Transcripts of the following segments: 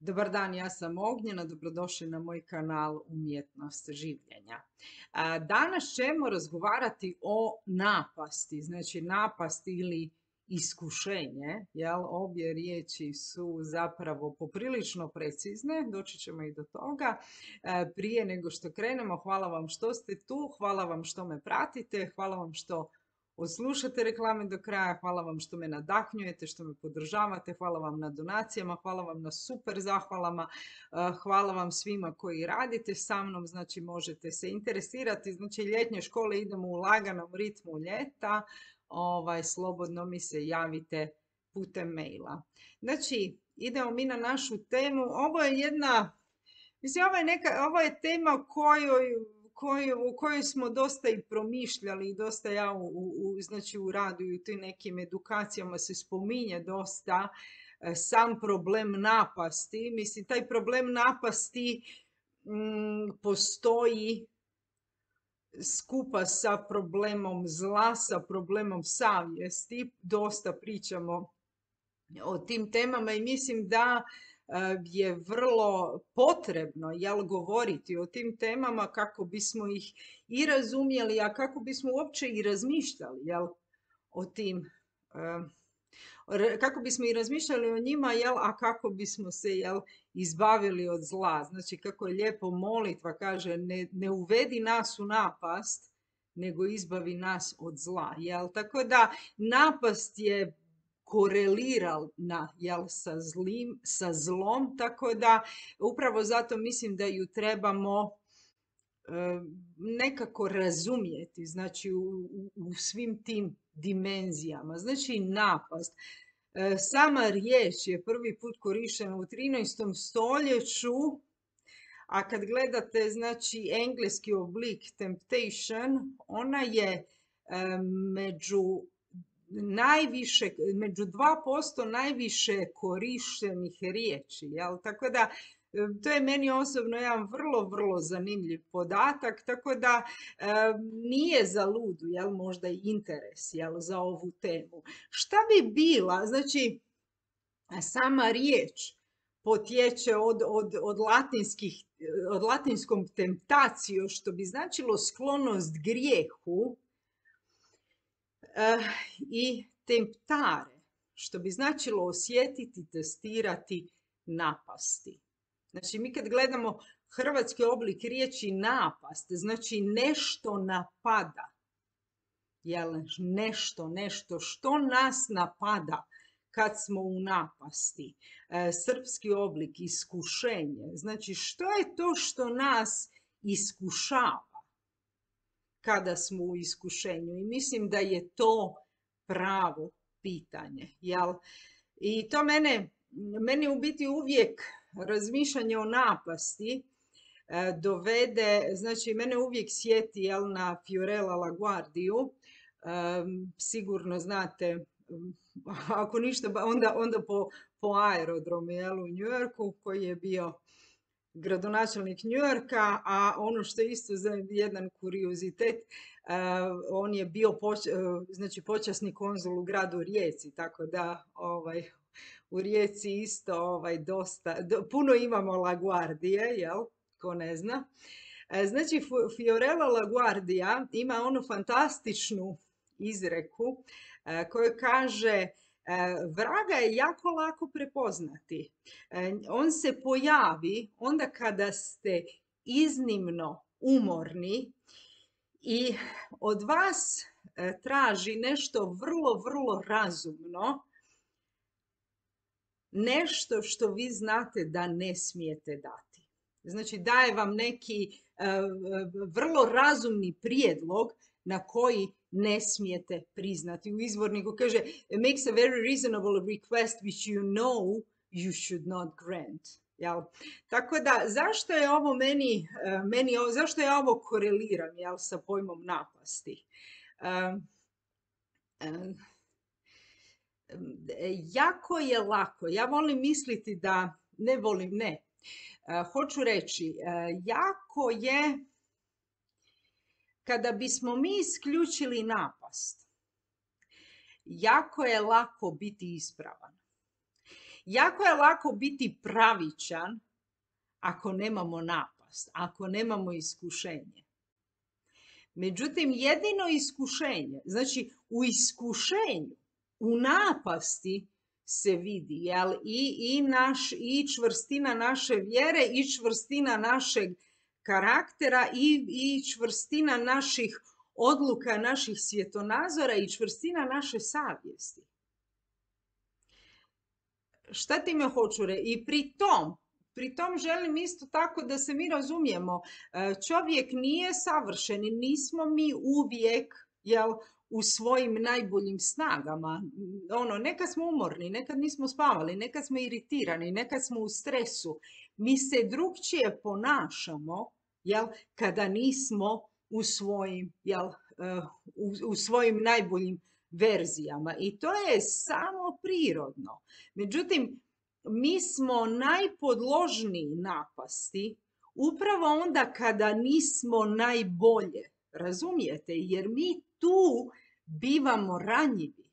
Dobar dan, ja sam Ognjena, dobrodošli na moj kanal Umjetnost življenja. Danas ćemo razgovarati o napasti, znači napast ili iskušenje, jel? Obje riječi su zapravo poprilično precizne, doći ćemo i do toga. Prije nego što krenemo, hvala vam što ste tu, hvala vam što me pratite, hvala vam što odslušate reklame do kraja, hvala vam što me nadahnjujete, što me podržavate, hvala vam na donacijama, hvala vam na super zahvalama, hvala vam svima koji radite sa mnom, znači možete se interesirati, znači ljetnje škole idemo u laganom ritmu ljeta, slobodno mi se javite putem maila. Znači, idemo mi na našu temu, ovo je jedna, mislim, ovo je tema o kojoj smo dosta i promišljali i dosta ja znači u radu i u tim nekim edukacijama se spominje dosta sam problem napasti. Mislim, taj problem napasti postoji skupa sa problemom zla, sa problemom savjesti. Dosta pričamo o tim temama i mislim da je vrlo potrebno govoriti o tim temama kako bismo ih i razumjeli, a kako bismo uopće i razmišljali o tim, kako bismo i razmišljali o njima, a kako bismo se izbavili od zla. Znači, kako je lijepo molitva kaže, ne uvedi nas u napast, nego izbavi nas od zla. Tako da napast je korelirana sa zlom, tako da upravo zato mislim da ju trebamo nekako razumjeti, znači u svim tim dimenzijama. Znači napast. Sama riječ je prvi put korištena u 13. stoljeću, a kad gledate znači engleski oblik temptation, ona je među 2% najviše korištenih riječi. Tako da to je meni osobno jedan vrlo, vrlo zanimljiv podatak, tako da nije za ludu možda i interes za ovu temu. Šta bi bila, znači sama riječ potječe od latinskom temptatio, što bi značilo sklonost grijehu, i temptare, što bi značilo osjetiti, testirati, napasti. Znači, mi kad gledamo hrvatski oblik riječi napast, znači nešto napada. Nešto što nas napada kad smo u napasti. Srpski oblik iskušenje. Znači, što je to što nas iskušava kada smo u iskušenju? I mislim da je to pravo pitanje. I to meni u biti uvijek razmišljanje o napasti dovede, znači mene uvijek sjeti na Fiorella LaGuardiju. Sigurno znate, ako ništa, onda po aerodromu u New Yorku, koji je bio gradonačelnik New Yorka, a ono što je isto za jedan kuriozitet, on je bio znači počasni konzul u gradu Rijeci, tako da u Rijeci isto dosta, puno imamo LaGuardije, ko ne zna. Znači, Fiorella LaGuardia ima onu fantastičnu izreku koju kaže: vraga je jako lako prepoznati. On se pojavi onda kada ste iznimno umorni i od vas traži nešto vrlo, vrlo razumno, nešto što vi znate da ne smijete dati. Znači, daje vam neki vrlo razumni prijedlog na koji ne smijete priznati. U izvorniku kaže makes a very reasonable request which you know you should not grant. Tako da, zašto je ovo zašto ja ovo koreliram sa pojmom napasti? Jako je lako, ja volim misliti da, hoću reći, jako je, kada bismo mi isključili napast, jako je lako biti ispravan. Jako je lako biti pravičan ako nemamo napast, ako nemamo iskušenje. Međutim, jedino iskušenje, znači u iskušenju, u napasti se vidi, jel? I čvrstina naše vjere, i čvrstina našeg karaktera, i čvrstina naših odluka, naših svjetonazora, i čvrstina naše savjesti. Šta ti me hoću reći? I pri tom želim isto tako da se mi razumijemo. Čovjek nije savršen i nismo mi uvijek, jel, u svojim najboljim snagama. Nekad smo umorni, nekad nismo spavali, nekad smo iritirani, nekad smo u stresu. Mi se drugčije ponašamo, jel, kada nismo u svojim najboljim verzijama. I to je samo prirodno. Međutim, mi smo najpodložniji napasti upravo onda kada nismo najbolje. Razumijete? Jer mi tu bivamo ranjivi.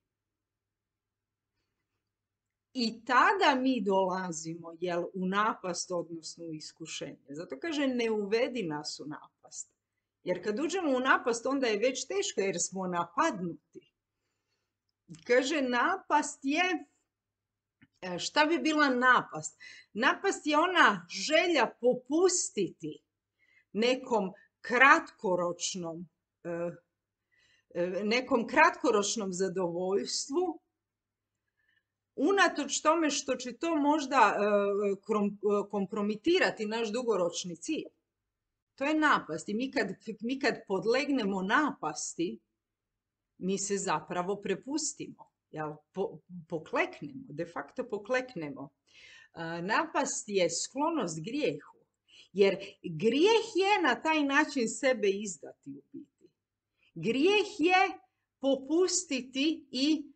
I tada mi dolazimo, jel, u napast, odnosno u iskušenje. Zato kaže, ne uvedi nas u napast. Jer kad uđemo u napast, onda je već teško jer smo napadnuti. Kaže, napast je, šta bi bila napast? Napast je ona želja popustiti nekom kratkoročnom zadovoljstvu, unatoč tome što će to možda kompromitirati naš dugoročni cilj. To je napast. I mi kad podlegnemo napasti, mi se zapravo prepustimo, jel? Pokleknemo, de facto pokleknemo. Napast je sklonost grijehu, jer grijeh je na taj način sebe izdati u biti. Grijeh je popustiti i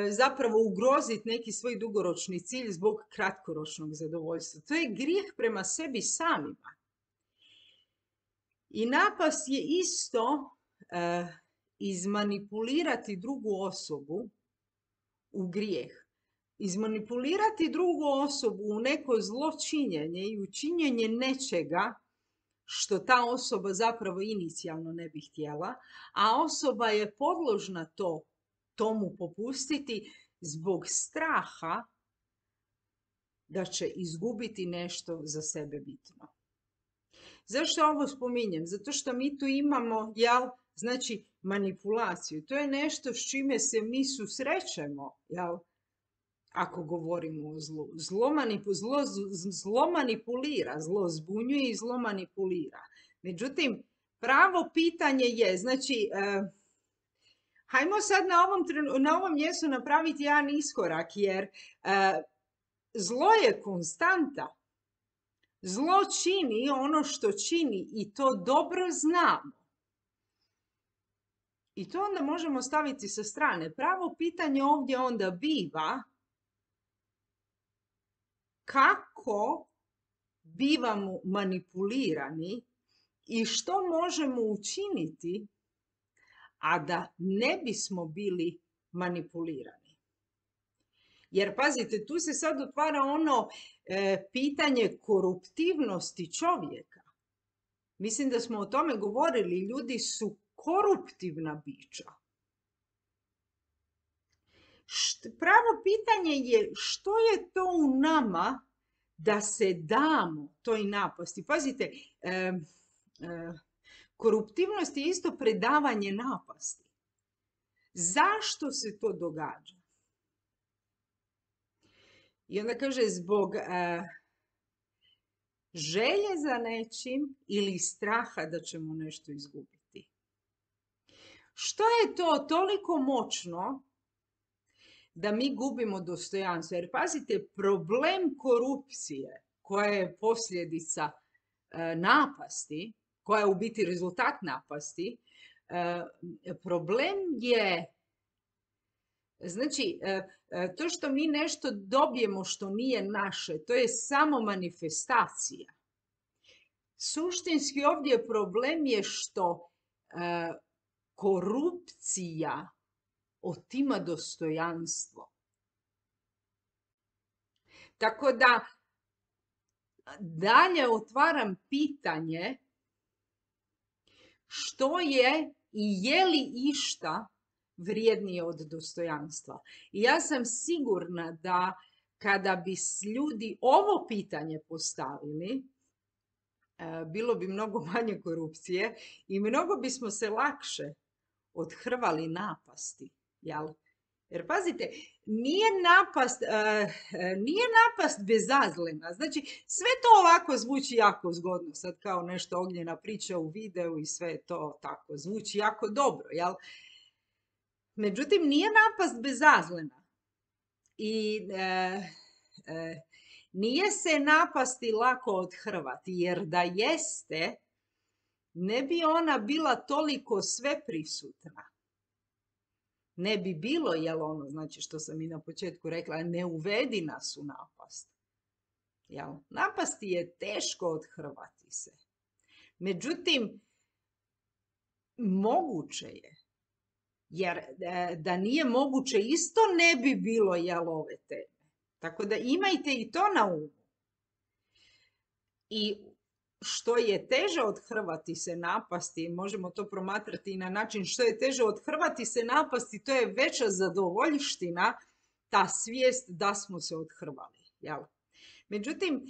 zapravo ugroziti neki svoj dugoročni cilj zbog kratkoročnog zadovoljstva. To je grijeh prema sebi samima. I napast je isto izmanipulirati drugu osobu u grijeh. Izmanipulirati drugu osobu u neko zločinjenje i u činjenje nečega što ta osoba zapravo inicijalno ne bi htjela, a osoba je podložna tomu popustiti zbog straha da će izgubiti nešto za sebe bitno. Zašto ovo spominjem? Zato što mi tu imamo, jel, znači manipulaciju. To je nešto s čime se mi susrećemo, jel, ako govorimo o zlu. Zlo manipulira, zlo zbunjuje i zlo manipulira. Međutim, pravo pitanje je, znači, hajmo sad na ovom mjestu napraviti jedan iskorak, jer zlo je konstanta. Zlo čini ono što čini i to dobro znamo. I to onda možemo staviti sa strane. Pravo pitanje ovdje onda biva kako bivamo manipulirani i što možemo učiniti, a da ne bismo bili manipulirani. Jer pazite, tu se sad otvara pitanje koruptivnosti čovjeka. Mislim da smo o tome govorili, ljudi su koruptivna bića. Pravo pitanje je što je to u nama da se damo toj napasti. Pazite, koruptivnost je isto predavanje napasti. Zašto se to događa? I onda kaže zbog želje za nečim ili straha da ćemo nešto izgubiti. Što je to toliko moćno da mi gubimo dostojanstvo? Jer pazite, problem korupcije koja je posljedica napasti, koja je u biti rezultat napasti, problem je, znači, to što mi nešto dobijemo što nije naše, to je samo manifestacija. Suštinski ovdje problem je što korupcija otima dostojanstvo. Tako da dalje otvaram pitanje što je i je li išta vrijednije od dostojanstva. I ja sam sigurna da kada bi ljudi ovo pitanje postavili, bilo bi mnogo manje korupcije i mnogo bismo se lakše odhrvali napasti. Jel? Jer pazite, nije napast bezazlena. Znači, sve to ovako zvuči jako zgodno. Sad kao nešto Ognjena priča u videu i sve to tako zvuči jako dobro. Jel? Međutim, nije napast bezazlena. I nije se napasti lako odhrvati, jer da jeste, ne bi ona bila toliko sveprisutna. Ne bi bilo, jel ono, znači što sam i na početku rekla, ne uvedi nas u napast. Jel? Napasti je teško odhrvati se. Međutim, moguće je. Jer da nije moguće, isto ne bi bilo, jel, ove teme. Tako da imajte i to na umu. I što je teže odhrvati se napasti, možemo to promatrati i na način što je teže odhrvati se napasti, to je veća zadovoljština, ta svijest da smo se odhrvali. Jel? Međutim,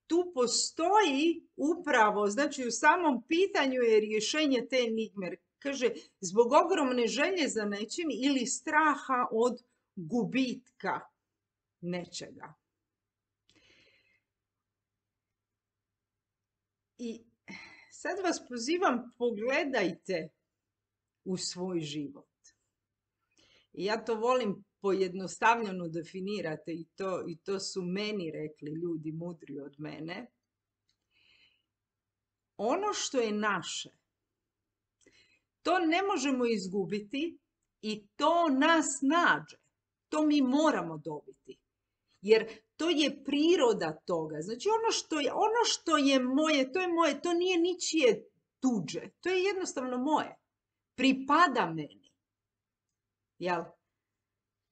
tu postoji upravo, znači u samom pitanju je rješenje te enigme. Kaže, zbog ogromne želje za nečim ili straha od gubitka nečega. I sad vas pozivam, pogledajte u svoj život. I ja to volim pojednostavljeno definirati i to su meni rekli ljudi mudri od mene. Ono što je naše, to ne možemo izgubiti i to nas nađe. To mi moramo dobiti. Jer to je priroda toga. Znači ono što je moje, to nije ničije tuđe. To je jednostavno moje. Pripada meni. Jel?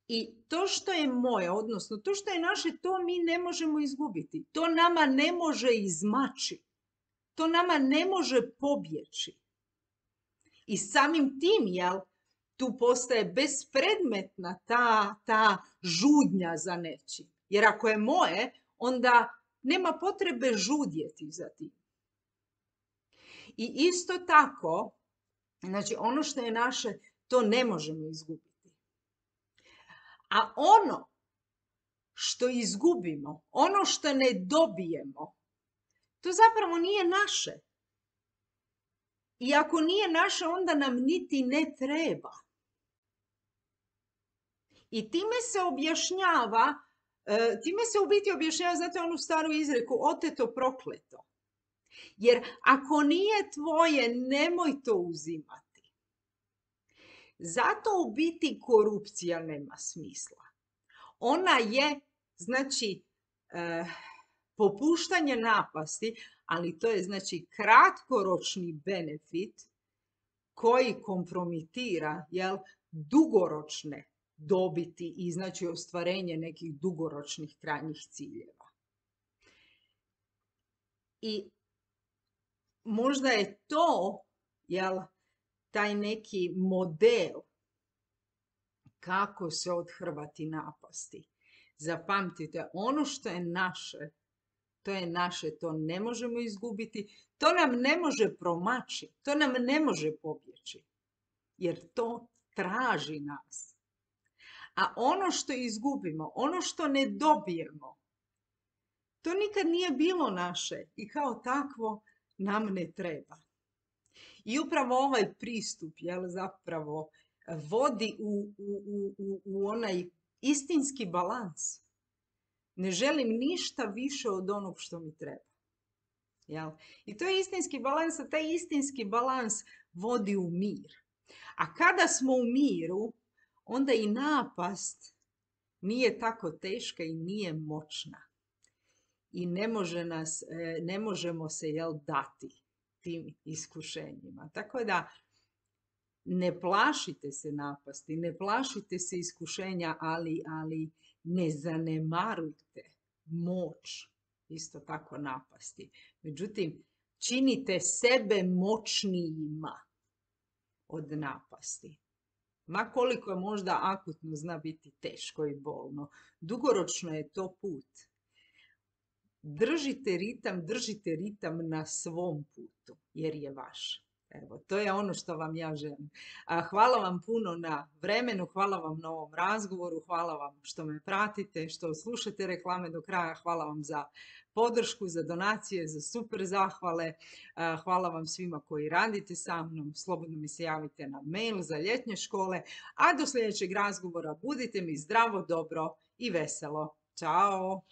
I to što je moje, odnosno to što je naše, to mi ne možemo izgubiti. To nama ne može izmaći. To nama ne može pobjeći. I samim tim, jel, tu postaje bespredmetna ta žudnja za nečim. Jer ako je moje, onda nema potrebe žudjeti za tim. I isto tako, znači ono što je naše, to ne možemo izgubiti. A ono što izgubimo, ono što ne dobijemo, to zapravo nije naše. I ako nije naše, onda nam niti ne treba. I time se objašnjava, time se u biti objašnjava, znate onu staru izreku, oteto prokleto. Jer ako nije tvoje, nemoj to uzimati. Zato u biti korupcija nema smisla. Ona je, znači, popuštanje napasti, ali to je, znači, kratkoročni benefit koji kompromitira, jel, dugoročne dobiti i, znači, ostvarenje nekih dugoročnih krajnjih ciljeva. I možda je to, jel, taj neki model kako se odhrvati napasti. Zapamtite, ono što je naše, to je naše, to ne možemo izgubiti, to nam ne može promaći, to nam ne može pobjeći, jer to traži nas. A ono što izgubimo, ono što ne dobijemo, to nikad nije bilo naše i kao takvo nam ne treba. I upravo ovaj pristup, jel, zapravo vodi u onaj istinski balans. Ne želim ništa više od onog što mi treba. Jel? I to je istinski balans, a taj istinski balans vodi u mir. A kada smo u miru, onda i napast nije tako teška i nije moćna. I ne možemo se, jel, dati tim iskušenjima. Tako da ne plašite se napasti, ne plašite se iskušenja, ali ne zanemarujte moć isto tako napasti. Međutim, činite sebe moćnijima od napasti. Ma koliko je možda akutno zna biti teško i bolno, dugoročno je to put. Držite ritam na svom putu, jer je vaš. Evo, to je ono što vam ja želim. Hvala vam puno na vremenu, hvala vam na ovom razgovoru, hvala vam što me pratite, što slušate reklame do kraja, hvala vam za podršku, za donacije, za super zahvale. Hvala vam svima koji radite sa mnom, slobodno mi se javite na mail za ljetnje škole, a do sljedećeg razgovora budite mi zdravo, dobro i veselo. Ćao!